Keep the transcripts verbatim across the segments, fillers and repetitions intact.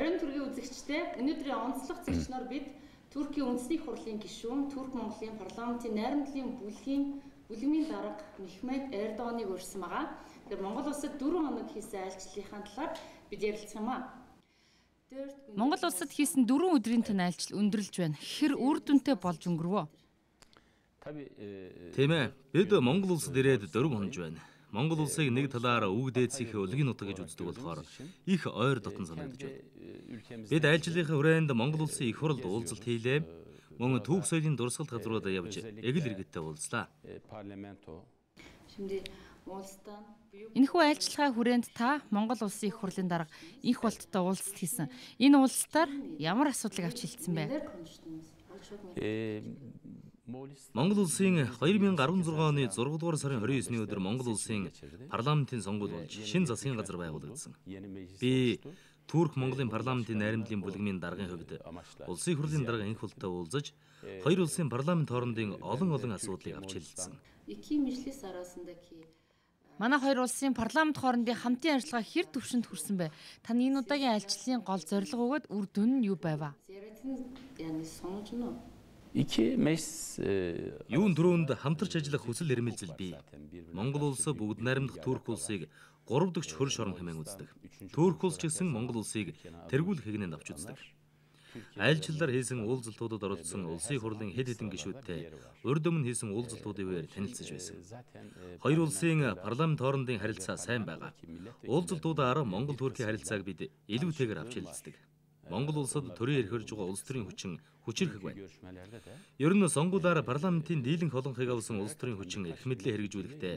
Оройн төргийн үзэгчтэй өнөөдрийн онцлог зэгчноор бид Туркийн үндэсний хурлын гишүүн, Турк Монголын парламентын найрамдлын бүлгийн бүлэмийн дарга Мехмед Эрдоганыг урьсан байгаа. Тэгэхээр Монгол улсад дөрвөн хоног хийсэн айлчлалынхаа талаар бид ярилцах юм аа. Монгол улсад хийсэн дөрвөн өдрийн тань айлчлал өндөрлж байна. Хэр үр дүнтэй болж өнгөрвөө? Тийм ээ. Бид Монгол улсад ирээд дөрвөн хоног байна. Монгол улсыг нэг талаараа үг дээдсийнхээ өлгийн нутаг гэж үздэг болохоор их ойр дотн санагдаж байна. Бид айлчлалынхаа хүрээнд Монгол улсын их хурлд уулзалт хийлээ. Мөн түүх соёлын дурсгалт газруудаа явж эгэл иргэдтэй уулзлаа. Энэхүү айлчлагын хүрээнд та Монгол улсын их хурлын дарга инх болттой уулзалт хийсэн. Энэ уулзалтаар ямар асуудлыг авч хэлсэн бэ? Монгол улсын хоёр мянга арван зургаан оны зургаан дугаар сарын хорин есний өдөр Монгол улсын парламентын сонгуул болж шинэ засгийн газар байгуулагдсан. Би Турк Монголын парламентын найрамдлын бүлгмийн даргын хувьд улсын хурлын дарга инх болттой уулзаж хоёр улсын парламент хоорондын олон олон асуудлыг авч хэлэлцсэн. Манай хоёр улсын парламент хоорондын хамтын ажиллагаа хэр төвшөнд хүрсэн бэ? Таны энэ удаагийн айлчлалын гол зорилго өгөөд үр дүн нь юу байв? Юун дөрөвөнд хамтарч ажиллах хүсэл эрмэлзэл бий. Монгол улс бүгд найрамдах Турк улсыг гурав дахь хөрш орон хэмээн үздэг. Турк улс ч гэсэн Монгол улсыг тэргүүлэх хэгнэнд авч үздэг. Айлчлалаар хийсэн уулзалтуудад оролцсон улсын хурлын хэд хэдэн гишүүдтэй урд өмнө хийсэн уулзалтуудын үеэр танилцж байсан. Хоёр улсын парламент хоорондын харилцаа сайн байгаа. Уулзалтуудаар Монгол Туркийн харилцааг бид илүүтэйгээр авч хэлэлцдэг. Монгол улсад төрийн эрхэрж байгаа улс төрийн хүчин хүчирхэг байна. Ер нь сонгуулиар парламентын дийлэнх олонхыг авсан улс төрийн хүчин эрх мэдлээ хэрэгжүүлэхдээ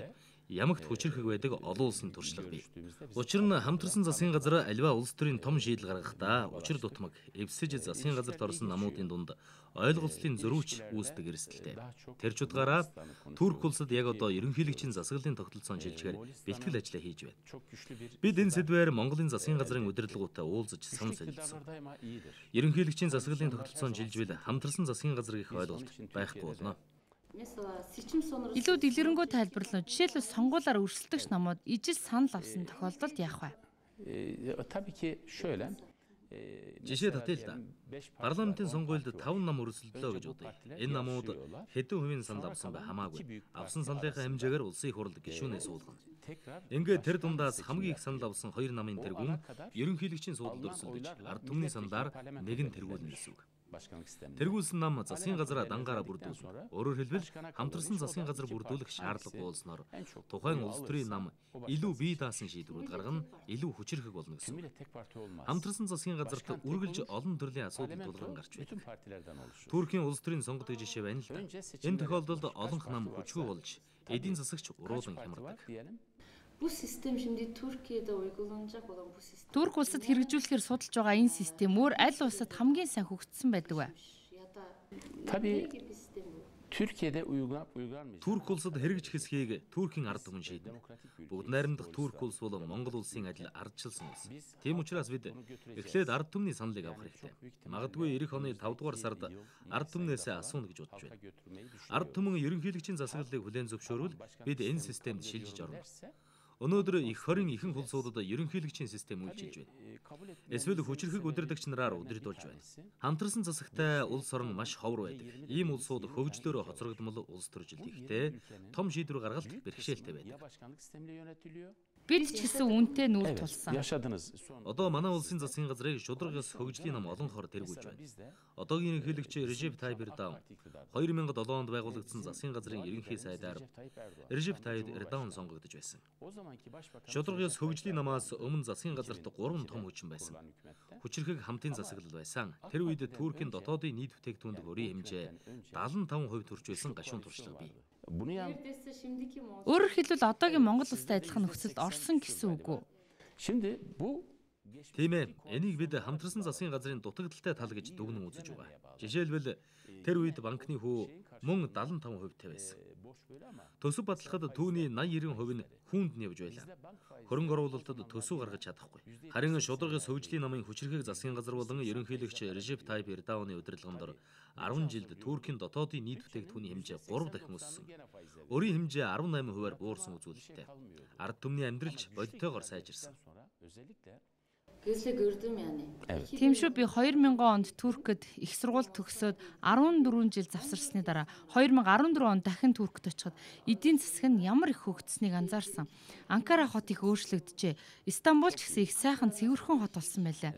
ямагт хүчирхэг байдаг олон улсын туршлага бий. Учир нь хамтарсан засгийн газар аливаа улс төрийн том шийдэл гаргахдаа учир дутмаг эвсэж засгийн газарт орсон намуудын дунд ойлголцлын зөрүүч үүсдэг эрсдэлтэй. Тэр ч утгаараа Турк улсад яг одоо ерөнхийлөгчийн засаглалын тогтолцоон шилжгээр бэлтгэл ажиллаа хийж байна. Бид энэ сэдвээр Монголын засгийн газрын удирдлагуудтай уулзаж санал солилцсон. Ерөнхийлөгчийн засаглалын тогтолцоон шилжвэл хамтарсан засгийн газар гэх ойлголт байхгүй болно. Илүү дэлгэрэнгүй тайлбарлав. Жишээлбэл сонгуулиар өрсөлдөгч намууд ижил санал авсан тохиолдолд яах вэ? Жишээ татъя л да. Парламентын сонгуульд таван нам өрсөлдлөө гэж бодъё. Энэ намууд хэдэн хувийн санал авсан бай хамаагүй. Авсан саналынхаа хэмжээгээр улсын хурлд гишүүнээ суулгана. Ингээд тэр дундаас хамгийн их санал авсан хоёр намын тэргүүн ерөнхийлөгчийн суудалд өрсөлдөж ард түмний саналаар нэг нь тэргүүлнэ гэсэн үг. Тэргүүлсэн нам засгийн газараа дангаараа бүрдүүлнэ. Өөрөөр хэлбэл хамтарсан засгийн газар бүрдүүлэх шаардлагагүй болсноор тухайн улс төрийн нам илүү бие даасан шийдвэрүүд гаргана, илүү хүчирхэг болно гэсэн. Хамтарсан засгийн газарт үргэлж олон төрлийн асуудал тулгарн гарч байдаг. Туркийн улс төрийн сонгод гэж жишээ байна л да. Энэ тохиолдолд олонх нам хүчгүй болж эдийн засагч уруулан хямардаг. Bu систем şimdi Türkiye'de uygulanacak olan bu sistem. Турк улсад хэрэгжүүлэхээр судалж байгаа энэ систем өөр аль улсад хамгийн сайн хөгжсөн байдаг вэ? Турк улсад хэрэгж хэсгийг Туркийн ард түмэн шийднэ. Бүгд найрамдах Турк улс бол Монгол улсын адил ардчилсан улс. Тийм учраас бид эхлээд ард түмний саналыг авах хэрэгтэй. Магадгүй эх оны тавд дугаар сард ард түмнээс асууна гэж бодож байна. Ард түмэн ерөнхийлөгчийн засаглалыг хүлээн зөвшөөрвөл бид энэ системд шилжиж орно. Өнөөдөр их хорийн ихэнх улсуудад ерөнхийлөгчийн систем үйлчилж байна. Эсвэл хүчирхэг удирдагч нараар удирдуулж байна. Хамтарсан засагтай улс орон маш ховор байдаг. Ийм улсууд хөгжлөөрөө хоцрогдмол улс төржилт ихтэй том шийдвэр гаргалт бэрхшээлтэй байдаг. Бид ч гэсэн үнтэй нүүр тулсан. Одоо манай улсын засгийн газрыг шударгаас хөгжлийн нам олонхоор тэргүүлж байна. Одоогийн ерөнхийлөгч Режеп Тайип Эрдоған хоёр мянга долоо онд байгуулагдсан засгийн газрын ерөнхий сайдаар Режеп Тайип Эрдоған сонгогдож байсан. Шударгаас хөгжлийн намаас өмнө засгийн газарт гурван том хүчин байсан. Хүчирхэг хамтын засаглал байсан. Тэр үед Туркийн дотоодын нийт бүтээгдэхүүнд өрийн хэмжээ дагалан таван хувь төрж байсан гашуун туршлага бий. Өөрөөр хэлбэл одоогийн Монгол улстай адилхан нөхцөлд орсон гэсэн үг үү? Тийм ээ. Энийг бид хамтарсан засгийн газрын дутагдaltaй тал гэж дүгнэн үзэж байгаа. Жишээлбэл тэр үед банкны хүү мөн дагалан таван хувьтай байсан. Төсөв батлахад түүний найман эрдэнэ хувь нь хүнд нь явж байлаа. Хөрөнгө оруулалтад төсөв гаргаж чадахгүй. Харин шударгаас хөгжлийн намын хүчирхэг засгийн газар болон ерөнхийлөгч Режеп Тайип Эрдоғаны удирдлаганд арван жилд Туркийн дотоодын нийт бүтээгдэхүүний хэмжээ гурав дахин өссөн. Өрийн хэмжээ арван найман хувиар буурсан үзүүлэлттэй. Ард түмний амьдралч бодитойгоор сайжирсан. Тийм шүү, би хоёр мянган онд Туркид их сургууль төгсөөд арван дөрвөн жил завсарсны дараа хоёр мянга арван дөрвөн онд дахин Туркид очиход эдийн засаг нь ямар их хөгжсөнийг анзаарсан. Анкара хот их өөрчлөгдөжээ. Истанбул ч гэсэн их сайхан цэвэрхэн хот болсон байлаа.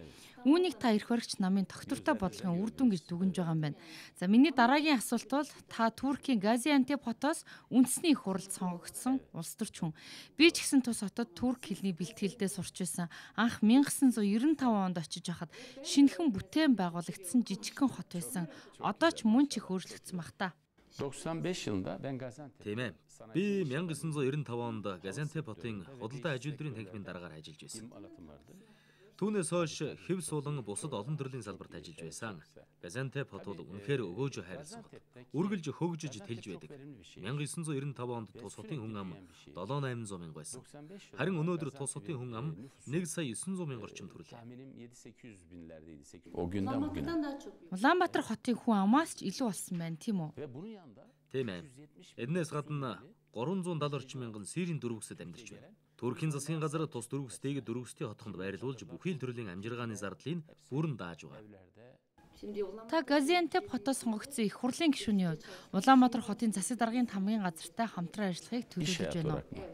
Үүнийг та эрх баригч намын тогтвортой бодлогын үр дүн гэж дүгнж байгаа юм байна. За миний дараагийн асуулт бол та Туркийн Газиантеп хотоос үндэсний их хуралд сонгогдсон улс төрч хүн. Би ч гэсэн тус хотод турк хэлний бэлтгэлдээ сурч байсан. Анх 천구 девятьсот девяносто онд очиж байхад шинэхэн бүтээн байгуулагдсан жижигхэн хот байсан. Одоо ч мөн ч их өөрчлөгдсөн баг та. doksan beş yılında ben Gaziantep. Тийм ээ. Би 천구 девятьсот девяносто онд Газиантеп хотын худалдаа аж үйлдвэрийн танхимын дараагаар ажиллаж байсан. Түүнээс хойш хэв суулан бусад олон төрлийн салбарт ажиллаж байсан. Газиантеп хот бол үнэхээр өгөөж хайрласан хот. Үргэлж хөгжиж тэлж байдаг. 천구 девятьсот девяносто онд тус хотын хүн ам долоо аян дасгалжуур мянга байсан. Харин өнөөдөр тус хотын хүн ам нэг сая девятьсот мянга орчим төрлөө. O günden bugüne. Улаанбаатар хотын хүн амаас ч илүү болсон байна, тийм үү? Тийм ээ. Эднээс гадна гурван зуун дагалан орчим мянган Сирийн дөрвөсөд амьдарч байна. Туркийн засгийн газар тус дөрвөстэйг дөрвөстэй хотхонд байрлуулж бүхий л төрлийн амжиргааны зардлыг бүрэн дааж байгаа. Та Газиантеп хотоос сонгогдсон их хурлын гишүүний хувьд Улаанбаатар хотын засаг даргын хамгийн газартай хамтран ажиллахыг төлөвлөж байна уу?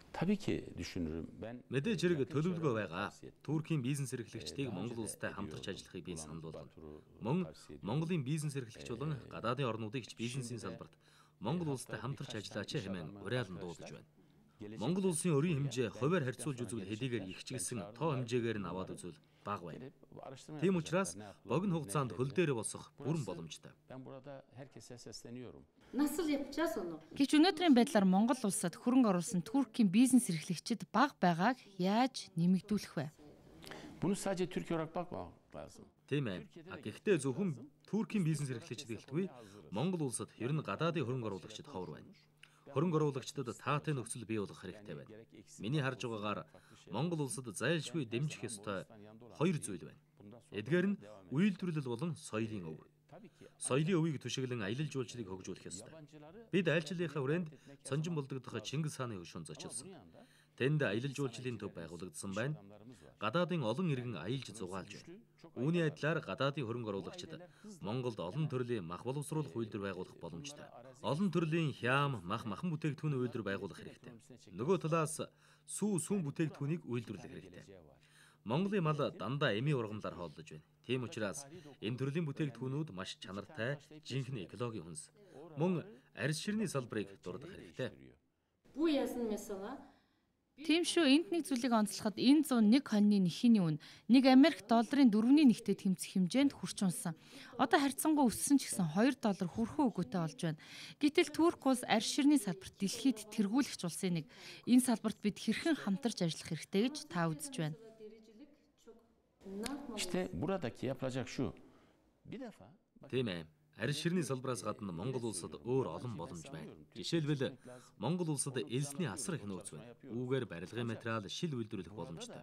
Tabii ki düşünürüm. Ben Мэдээж хэрэг төлөвлөгөө байгаа. Туркийн бизнес эрхлэгчдийг Монгол улстай хамтарч ажиллахыг би санал болгоно. Мөн Монголын бизнес эрхлэгч болон гадаадын орнуудыг ч бизнесийн салбарт Монгол улстай хамтарч ажиллаач хэмээн уриалан дуудаж байна. Монгол улсын өрийн хэмжээ хувиар харьцуулж үзвэл хэдийгээр ихчилсэн тоо хэмжээгээр нь аваад үзвэл бага байна. Тийм учраас богино хугацаанд хөл дээр босох бүрэн боломжтой. ben burada herkese sesleniyorum. Насал явчаас өнөө. Гэвч өнөөдрийн байдлаар Монгол улсад хөрөнгө оруулсан Туркийн бизнес эрхлэгчид бага байгааг яаж нэмэгдүүлэх вэ? Bunu sadece Türkiye olarak bakmamak lazım. Тийм ээ. Гэхдээ зөвхөн Туркийн бизнес эрхлэгчид гэлтгүй Монгол улсад ер нь гадаадын хөрөнгө оруулагчид ховор байна. Хөрөнгө оруулагчдад таатай нөхцөл бий болгох хэрэгтэй байна. Миний харж байгаагаар Монгол улсад зайлшгүй дэмжих ёстой хоёр зүйл байна. Эдгээр нь үйлдвэрлэл болон соёлын өв. Соёлын өвийг түшиглэн аялал жуулчлалыг хөгжүүлэх ёстой. Бид айлчлалынхаа хүрээнд цонжин болдогдох Чингис хааны хөшөөнд зочилсон. Тэнд аялал жуулчлалын төв байгуулагдсан байна. Гадаадын олон иргэн аялж зугаалж байна. Үүний адилаар гадаадын хөрөнгө оруулагчид Монголд олон төрлийн мах боловсруулах үйлдвэр байгуулах боломжтой. Олон төрлийн хям, мах, махан бүтээгдэхүүн үйлдвэр байгуулах хэрэгтэй. Нөгөө талаас сүү, сүм бүтээгдэхүүнийг үйлдвэрлэх хэрэгтэй. Монголын мал дандаа эми ургамлаар хооллож байна. Тийм учраас энэ төрлийн бүтээгдэхүүнүүд маш чанартай, жинхэнэ экологийн хүнс. Мөн арьс ширний салбарыг дурдах хэрэгтэй. Бүү яасан месага? Тийм шүү, энд нэг зүйлийг онцлоход энэ зуун нэг хоньны нэхний үн нэг Америк долларын дөрвний нэгтэй тэмцэх хэмжээнд хүрч унсан. Одоо харьцангуй өссөн ч гэсэн хоёр доллар хүрхэн өгөөтэй болж байна. Гэтэл Турк улс арьс ширний салбарт дэлхийд тэргүүлэгч улсын нэг. Энэ салбарт бид хэрхэн хамтарч ажиллах хэрэгтэй гэж та үзэж байна. İşte buradaki yapılacak şu. Bir defa Тийм ээ. Арьс ширний салбараас гадна Монгол улсад өөр олон боломж байна. Жишээлбэл Монгол улсад элсний асар их нөөц байна. Үүгээр барилгын материал, шил үйлдвэрлэх боломжтой.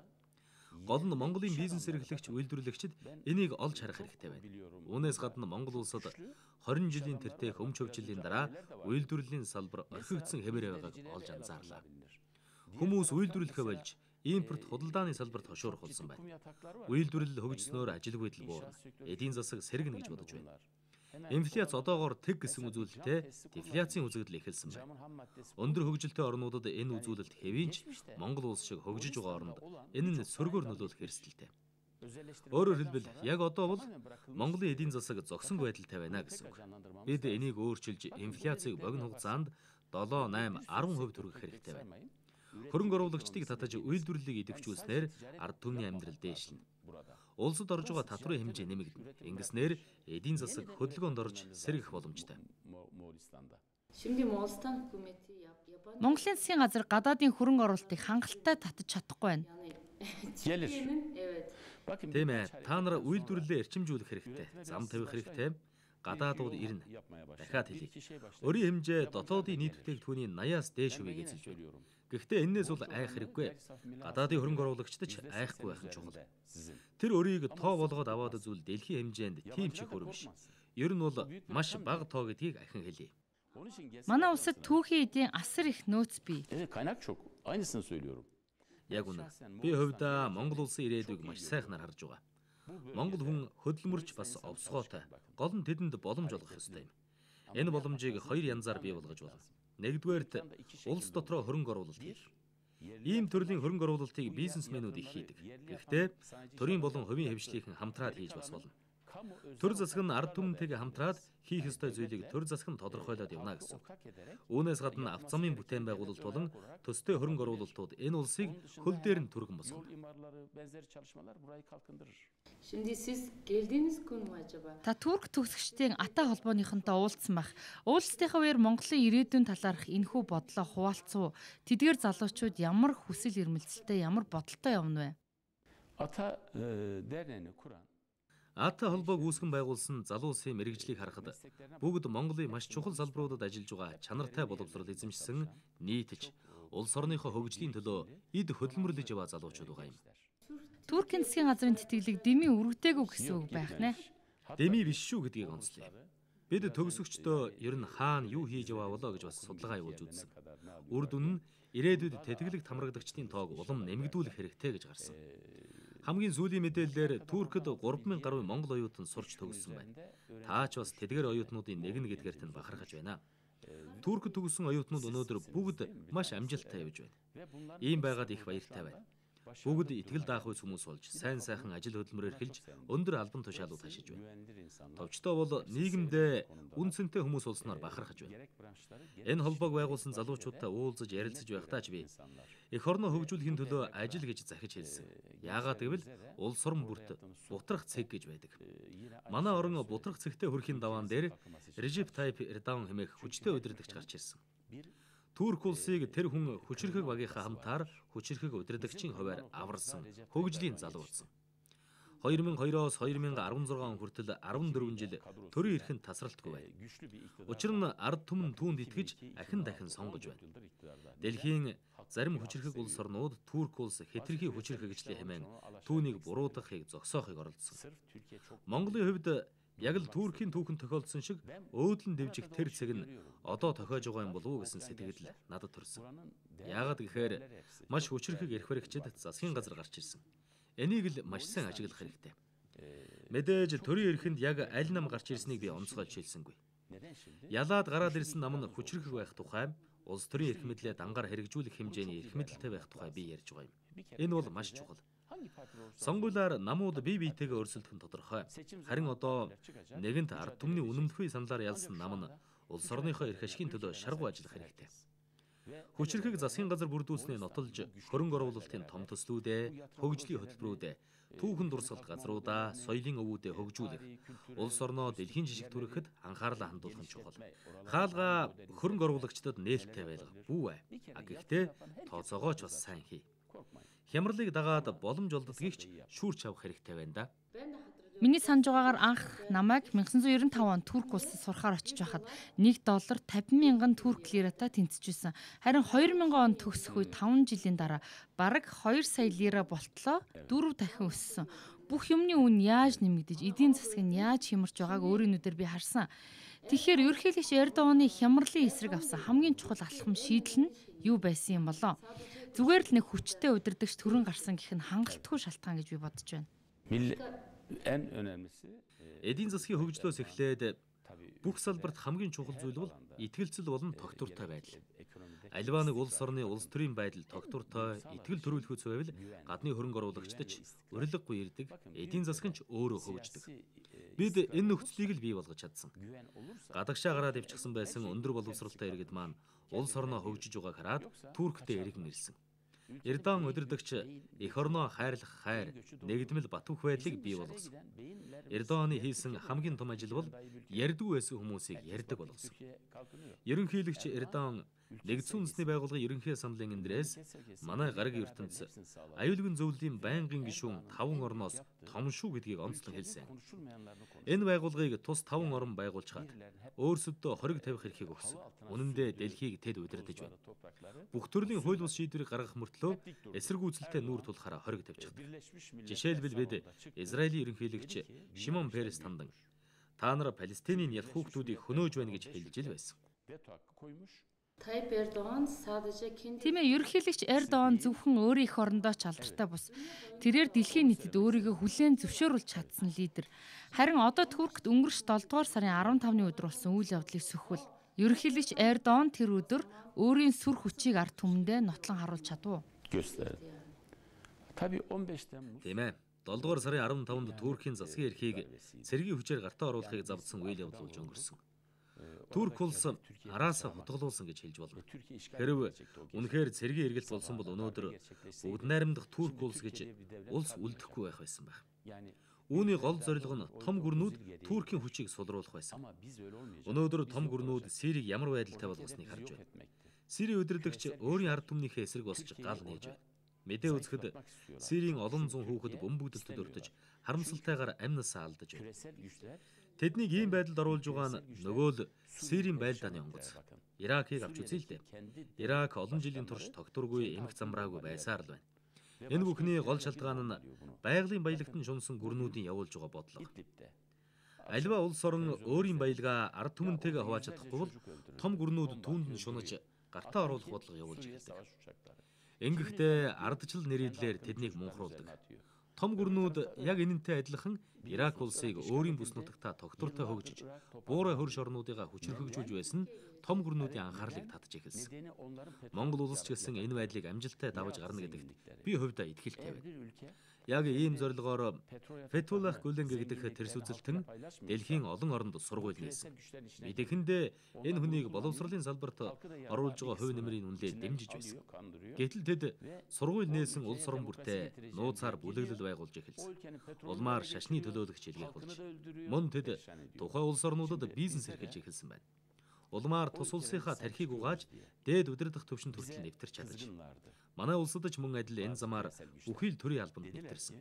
Гол нь Монголын бизнес эрхлэгч үйлдвэрлэгчид энийг олж харах хэрэгтэй байна. Үүнээс гадна Монгол улсад хорин жилийн тэртех өмч хөгжлийн дараа үйлдвэрлэлийн салбар орхигдсон хэмээр байгааг олж анзаарлаа. Хүмүүс үйлдвэрлэхээ болж импорт худалдааны салбарт хошуурах болсон байна. Үйлдвэрлэл хөгжснөөр ажил байдал буурна. Эдийн засаг сэргэнэ гэж бодож байна. Инфляц одоогоор тэг гэсэн үзүүлэлтээ дефляцийн үзэгдэл эхэлсэн байна. Өндөр хөгжилтэй орнуудад энэ үзүүлэлт хэвийн ч Монгол улс шиг хөгжиж байгаа оронд энэ нь сөргөөр нөлөөлөх эрсдэлтэй. Өөрөөр хэлбэл яг одоо бол Монголын эдийн засаг зогсон байдалтай байна гэсэн үг. Бид энийг өөрчилж инфляцийг богино хугацаанд долоо, найман, арван хувь хүргэх хэрэгтэй байна. Хөрөнгө оруулагчдыг татаж үйлдвэрлэлийг идэвхжүүлснээр ард түмний амьдрал дээшлэнэ. Улсад орж байгаа татврын хэмжээ нэмэгдэнэ. Ингэснээр эдийн засаг хөдөлгөөнд орж сэргэх боломжтой. Монголын засгийн газар гадаадын хөрөнгө оруулалтыг хангалттай татаж чадахгүй байна. Тийм ээ. Та нар үйлдвэрлэлээ эрчимжүүлэх хэрэгтэй. Зам тавих хэрэгтэй. Гадаадууд ирнэ. Дахиад хэлье. Өрийн хэмжээ дотоодын нийт бүтээгдэхүүний восьмоос дээш хувийг эзэлж байна. Гэхдээ энэс бол айх хэрэггүй. Гадаадын хөрөнгө оруулагчид ч айхгүй байх нь чухал. Тэр өрийг тоо болгоод аваад үзвэл дэлхийн хэмжээнд тийм ч их хөрөнгө биш. Ер нь бол маш бага тоо гэдгийг ахин хэлье. Манай улсад түүхийн эдийн асар их нөөц бий. Evet, kaynak çok. Aynısını söylüyorum. Яг үнэ. Би хувьдаа Монгол улсын ирээдүйг маш сайхнаар харж байгаа. Монгол хүн хөдөлмөрч бас овсгоотой. Гол нь тэдэнд боломж олгох ёстой юм. Энэ боломжийг хоёр янзаар бий болгож болно. Нэгдүгээрт улс дотроо хөрөнгө оруулалт хийх. Ийм төрлийн хөрөнгө оруулалтыг бизнесмэнүүд их хийдэг. Гэхдээ төрийн болон хувийн хэвшлийнхэн хамтраад хийж бас болно. Төр засаг нь ард түмэнтэйгээ хамтраад хийх ёстой зүйлийг төр засаг нь тодорхойлоод явна гэсэн. Үүнээс гадна авто замын бүтээн байгуулалт болон төстэй хөрөнгө оруулалтууд энэ улсыг хөл дээр нь түргэн босгоно. Та Турк төгсөгчдийн ата холбооныхонтой уулзсан байх. Уулзтынхаа үеэр Монголын ирээдүйн талаарх энэхүү бодлоо хуваалцав. Тэдгээр залуучууд ямар хүсэл эрмэлзэлтэй, ямар бодолтой явна вэ? Ата дээрнэ Куран. Ата холбоог үүсгэн байгуулсан залуу улсын мэрэгжлийг харахад бүгд Монголын маш чухал салбаруудад ажиллаж байгаа чанартай боловсрол эзэмшсэн нийтж улс орныхоо хөгжлийн төлөө эд хөдөлмөрлөж яваа залуучууд байгаа юм. Туркийн засгийн газрын тэтгэлэг дэмий өргөдөөгүй гэсэн үг байх нэ. Дэмий биш шүү гэдгийг онцлоо. Бид төгсөгчдөө ер нь хаана юу хийж яваа болоо гэж бас судалгаа явуулж үзсэн. Үр дүн нь ирээдүйд тэтгэлэг хамрагдагчдын тоог улам нэмэгдүүлэх хэрэгтэй гэж гарсан. Хамгийн сүүлийн мэдээлэлээр Туркид гурван мянган гаруй монгол оюутан сурч төгссөн байна. Таа ч бас тэдгээр оюутнуудын нэг нь гэдгээрт нь бахархаж байна. Туркид төгссөн оюутнууд өнөөдөр бүгд маш амжилттай явж байна. Ийм байгаад их баяртай байна. Бүгд итгэл даах үс хүмүүс болж сайн сайхан ажил хөдөлмөр эрхэлж өндөр албан тушаалууд хашиж байна. Товчтой бол нийгэмдээ үнцэнтэй хүмүүс улснаар бахархаж байна. Энэ холбоог байгуулсан залуучуудтай уулзаж ярилцаж байхдаа ч би эх орноо хөгжүүлэхийн төлөө ажил гэж захиж хэлсэн. Яагаад гэвэл улс орн бүрт бутрах цэг гэж байдаг. Манай орон бутрах цэгтэй хүрхийн даваан дээр Режеп Тайп Эрдоган хэмээх хүчтэй удирдагч гарч ирсэн. Турк улсыг тэр хүн хүчирхэг багийнхаа хамтаар хүчирхэг удирдагчийн хуваар аварсан хөгжлийн залуу болсон. две тысячи двоёроос две тысячи арван зургаан он хүртэл арван дөрвөн жил төрийн эрхэнд тасралтгүй байна. Учир нь ард түмэн түүнд итгэж ахин дахин сонгож байна. Дэлхийн зарим хүчирхэг улс орнууд Турк улс хэтэрхий хүчирхэгжлээ хэмээн түүнийг буруудахыг зогсоохыг оролдсон. Монголын хувьд яг л Туркийн түүхэн тохиолдсон шиг өөдлөн дэвжих тэр цэг нь одоо тохиож байгаа юм болов уу гэсэн сэтгэл надад төрсөн. Яагаад гэхээр маш хүчирхэг эрх баригчид засгийн газар гарч ирсэн. Энийг л маш сайн ажиглах хэрэгтэй. Мэдээж төрийн эрхэнд яг аль нам гарч ирснийг би онцгойж хэлсэнгүй. Ялаад гараад ирсэн нам нь хүчирхэг байх тухай, улс төрийн эрх мэдлээ дангаар хэрэгжүүлэх хэмжээний эрх мэдэлтэй байх тухай би ярьж байгаа юм. Энэ бол маш чухал. Сонгуулиар намууд бие биетэйгээ өрсөлдөх нь тодорхой. Харин одоо нэгэнт ард түмний үнэмлэхүй саналаар ялсан нам нь улс орныхоо эрх ашигын төлөө шаргуу ажиллах хэрэгтэй. Хүчирхэг засгийн газар бүрдүүлснээ нотолж хөрөнгө оруулалтын том төслүүдээ, хөгжлийн хөтөлбөрүүдээ, түүхэн дурсгалт газруудаа, соёлын өвүүдээ хөгжүүлэх, улс орноо дэлхийн жижиг түрэхэд анхаарлаа хандуулах нь чухал. Хаалга хөрөнгө оруулагчдад нээлттэй байлга бүү ээ. А гэхдээ тооцоогооч бас сайн хий. Хямралыг дагаад боломж олддгийг ч шүүрч авах хэрэгтэй байна да. Миний санаж байгаагаар анх намайг найман девяносто пять онд Турк улсад сурахаар очиж байхад нэг доллар пятьдесят мянган турк лиратаа тэнцэжсэн. Харин две тысячи онд төгсөх үе таван жилийн дараа бараг two сая лира болтлоо дөрөв дахин өссөн. Бүх юмны үн яаж нэмэгдэж, эдийн засаг нь яаж хямарч байгааг өөрийн нүдээр би харсан. Тэгэхээр ерөнхийлөгч Эрдоганы хямралын эсрэг авсан хамгийн чухал алхам шийдэл нь юу байсан юм болоо? Зүгээр л нэг хүчтэй удирдагч төрөн гарсан гэх нь хангалтгүй шалтгаан гэж би бодож байна. Эдийн засгийн хөгжлөөс эхлээд бүх салбарт хамгийн чухал зүйл бол итгэлцэл болон тогтвортой байдал. Аливаа нэг улс орны улс төрийн байдал тогтвортой, итгэл төрүүлэхүйц байвал гадны хөрөнгө оруулагчдад ч урилгагүй ирдэг, эдийн засаг нь ч өөрөө хөгждөг. Бид энэ нөхцөлийг л бий болгож чадсан. Гадагшаа гараад ивчихсан байсан өндөр боловсролтой иргэд маань улс орноо хөгжиж байгааг хараад Турктэй иргэн ирсэн. Эрдоган удирдагч эх орноо хайрлах хайр, нэгдмэл батвах байдлыг бий болгосон. Эрдоганы хийсэн хамгийн том ажил бол ярьдгүй байсан хүмүүсийг ярьдаг болгосон. Ерөнхийлөгч Эрдоган нэгдсэн үндэсний байгууллагын ерөнхий асамблеийн эндээс манай гараг ертөнц аюулгүй зөвлөлийн байнгын гишүүн таван орноос том шүү гэдгийг онцлон хэлсэн. Энэ байгууллагыг тус таван орн байгуулж хаад өөрсөддөө хориг тавих эрхийг өгсөн. Үнэн дээр дэлхийг тэд удирдах байна. Бүх төрлийн хууль бус шийдвэрийг гаргах мөртлөө эсэргүүцэлтэй нүүр тулахаараа хориг тавьчихдаг. Жишээлбэл бид Израилийн ерөнхийлөгч Шимон Перес тандан та нар Палестинийн ялх хүүхдүүдийг хөнөөж байна гэж хэлж ил байсан. Tayyip Erdoğan sadece kendi Тийм ээ, ерөнхийлөгч Эрдоган зөвхөн өөрийн эх орондоо ч алдартай бус. Тэрээр дэлхийн нийтэд өөрийгөө хүлээн зөвшөөрүүлж чадсан лидер. Харин одоо Туркт өнгөрч долдугаар сарын арван тавны өдөр болсон үйл явдлыг сөхвөл ерөнхийлөгч Эрдоган тэр өдөр өөрийн сүр хүчийг ард түмэндээ нотлон харуулж чадав. gösterdi. Tabii on beş Temmuz Тийм ээ. долдугаар сарын арван тавнд Туркийн засгийн эрхийг цэргийн хүчээр гартаа оруулахыг завдсан үйл явдал болж өнгөрсөн. Турк улс араасаа хутгалуулсан гэж хэлж болно. Хэрв үнэхээр цэргийн эргэлт болсон бол өнөөдөр бүгд найрамдах Турк улс гэж улс үлдэхгүй байх байсан байх. Үүний гол зорилго нь том гүрнүүд Туркийн хүчийг сулруулах байсан. Өнөөдөр том гүрнүүд Сирийг ямар байдалтай болгосныг харж байна. Сирийн удирдагч өөрийн ард түмнийхээ эсрэг босч гал нээж байна. Мэдээ үзэхэд Сирийн олон зуун хүүхэд бөмбөгдөлтөд өртөж харамсалтайгаар амнасаа алдаж байна. Тэднийг ийм байдалд оруулж байгаа нь нөгөө л Сирийн байлдааны онгоц. Иракийг авч үзье л дээ. Ирак олон жилийн турш тогтургүй эмх замраагүй байсаар л байна. Энэ бүхний гол шалтгаан нь байгалийн баялагт нь шунсан гүрнүүдийн явуулж байгаа бодлого. Альва улс орон өөрийн баялгаа ард түмэнтэйгээ хувааж чадахгүй бол том гүрнүүд түүнд нь шунаж гартаа оруулах бодлого явуулж эхэлдэг. Ингэхдээ ардчил нэрийдлэр тэднийг мунхруулдаг. Том гүрнүүд яг энэнтэй адилхан Ирак улсыг өөрийн бүс нутагтаа тогтвортой хөгжиж, буурай хөрш орнуудыгаа хүчрхэгжүүлж байсан том гүрнүүдийн анхаарлыг татж эхэлсэн. Монгол улс ч гэсэн энэ байдлыг амжилттай давж гарна гэдэгт би хувьдаа итгэлтэй байна. Яг ийм зорилгоор Фетхуллах Гүлэн гэгдэх тэрс үзэлтэн дэлхийн олон оронд сургууль нээсэн. Мэдээхэндээ энэ хүнийг боловсролын салбарт оруулж байгаа хувь нэмрийн үнэлээ дэмжиж байсан. Гэтэл тэд сургууль нээсэн улс орон бүртээ нууцаар бүлэглэл байгуулж эхэлсэн. Улмаар шашны төлөөлөгч илгээх болж. Мөн тэд тухай улс орнуудад бизнес эрхэлж эхэлсэн байна. Улмаар тус улсынхаа тархийг угааж дээд удирдах төвшөнд хүртэл нэвтэрч чадаж. Манай улсад ч мөн адил энэ замаар бүхий л төрийн албанд нэвтэрсэн.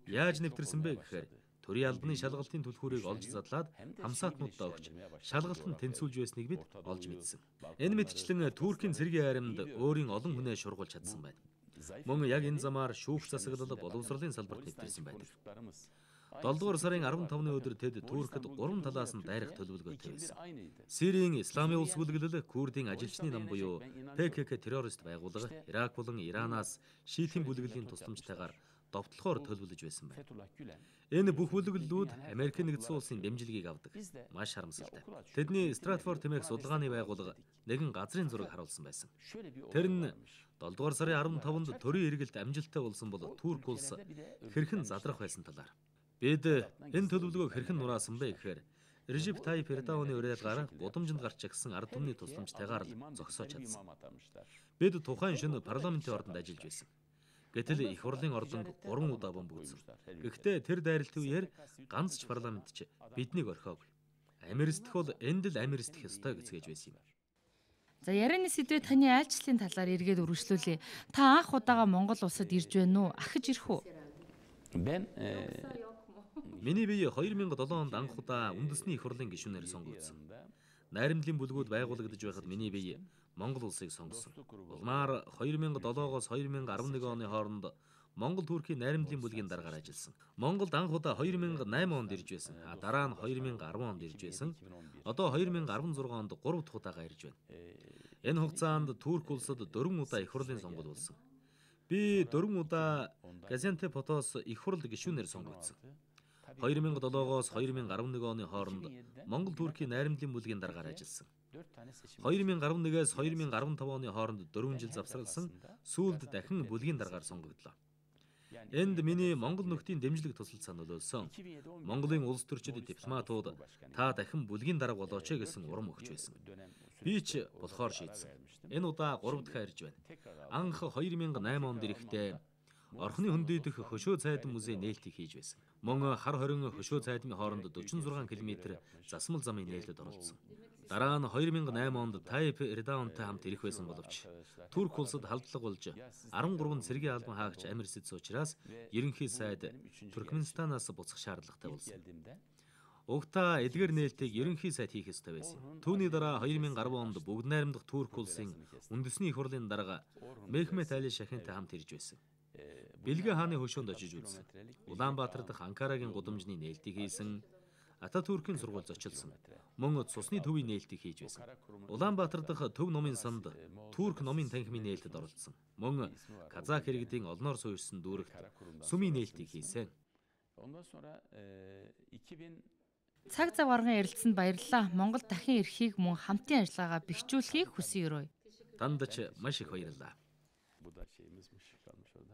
Яаж нэвтэрсэн бэ гэхээр төрийн албаны шалгалтын түлхүүрийг олж задлаад хамсаатнуудаа өгч шалгалтанд тэнцүүлж байсныг бид олж мэдсэн. Энэ мэтчлэн Туркийн цэргийн айрамд өөрийн олон хүнээ шургуулж чадсан байна. Мөн яг энэ замаар шүүх засаглал боловсролын салбарт нэвтэрсэн байдаг. долдугаар сарын арван тавны өдөр тэд Туркид гурван талаас нь дайрах төлөвлөгөөтэй байсан. Сирийн Исламын улс бүлэглэл, Курдийн ажилчны нам буюу Пэ Ке Ке террорист байгууллага, Ирак болон Иранаас шийтийн бүлэглэлийн тусламжтайгаар довтлохоор төлөвлөж байсан байна. Энэ бүх бүлэглэлүүд Америкийн нэгдсэн улсын дэмжлэгийг авдаг. Маш харамсалтай. Тэдний Стратфорд хэмээх судалгааны байгууллага нэгэн газрын зураг харуулсан байсан. Тэр нь долдугаар сарын арван тавнд төрийн эргэлт амжилттай болсон бол Турк улс хэрхэн задрах байсан талаар. Бид энэ төлөвлөгөөг хэрхэн нураасан бэ гэхээр Режеп Тайип Эрдоаны уриалгаар гудамжинд гарч ирсэн ард түмний тусламжтайгаар л зогсоож чадсан. Бид тухайн шөнө парламентын ордонд ажиллаж байсан. Гэтэл их хурлын ордонд гурван удаа бомбогдсон. Гэхдээ тэр дайралтын үеэр ганц ч парламент ч биднийг орхиогүй. Америстэх бол энд л америстэх ёстой гэцгээж байсан юм. За ярианы сэдвээ таны айлчлалын талаар эргээд үргэлжлүүлье. Та анх удаага Монгол улсад ирж байна уу? Ахиж ирэх үү? Ben Миний бие хоёр мянга долоо онд анх удаа үндэсний их хурлын гишүүнээр сонгогдсон. Найрамдлын бүлгүүд байгуулагдаж байхад миний бие Монгол улсыг сонгосон. Улмаар хоёр мянга долоогоос хоёр мянга арван нэгэн оны хооронд Монгол Туркийн найрамдлын бүлгийн даргаар ажилласан. Монголд анх удаа хоёр мянга найман онд ирж байсан. А дараа нь хоёр мянга арван онд ирж байсан. Одоо хоёр мянга арван зургаан онд гурав дахь удаага ирж байна. Энэ хугацаанд Турк улсад дөрвөн удаа их хурлын сонгуул болсон. Би дөрвөн удаа Газиантепотоос их хурл гишүүнээр сонгогдсон. хоёр мянга долоогоос хоёр мянга арван нэгэн оны хооронд Монгол Туркийн найрамдлын бүлгийн даргаар ажилласан. хоёр мянга арван нэгээс хоёр мянга арван таван оны хооронд дөрвөн жил завсралсан, сүүлд дахин бүлгийн даргаар сонгогдлоо. Энд миний Монгол нөхдийн дэмжлэг тусалцаа нөлөөлсөн. Монголын улс төрчид дипломатууд та дахин бүлгийн дарга болооч гэсэн урам өгч байсан. Би ч болохоор шийдсэн. Энэ удаа гурав дахь ирж байна. Анх хоёр мянга найман онд ирэхдээ Орхны хөндийдөх хөшөө цайдан музей нээлтийг хийж байсан. Мөн хар хорин хөшөө цайдны хооронд дөрвөн зургаан километр засмал замын нээлтэд оролцсон. Дараа нь хоёр мянга найман онд Тайип Эрдоантай хамт ирэх байсан боловч Турк улсад халдлага болж арван гурван цэргийн албан хаагч Америкс учраас ерөнхий сайд Туркменистанаас буцах шаардлагатай болсон. Угтаа эдгээр нээлтийг ерөнхий сайд хийх ёстой байсан. Түүний дараа хоёр мянга арван онд бүгд найрамдах Турк улсын үндэсний их хурлын дарга Мехмет Али Шахинтай хамт ирж байсан. Бэлгэ хааны хөшөөнд очиж үзсэн. Улаанбаатар дахь Анкарагийн гудамжны нээлтийг хийсэн. Ататүркийн сургууль зочилсон. Мөн цусны төвийн нээлтийг хийж байсан. Улаанбаатар дахь төв номын санд Турк номын танхимын нээлтэд оролцсон. Мөн Казак иргэдийн олноор суурьсан дүүрэгт сүмийн нээлтийг хийсэн. Ondan sonra e, iki bin Цаг зав гарган ярилцсанд баярлалаа. Монгол дахин ирэхийг мөн хамтын ажиллагаагаа бэхжүүлэхийг хүсэн ерөө. Танд ч маш их баярлалаа. bu da şeyimiz kalmış orada.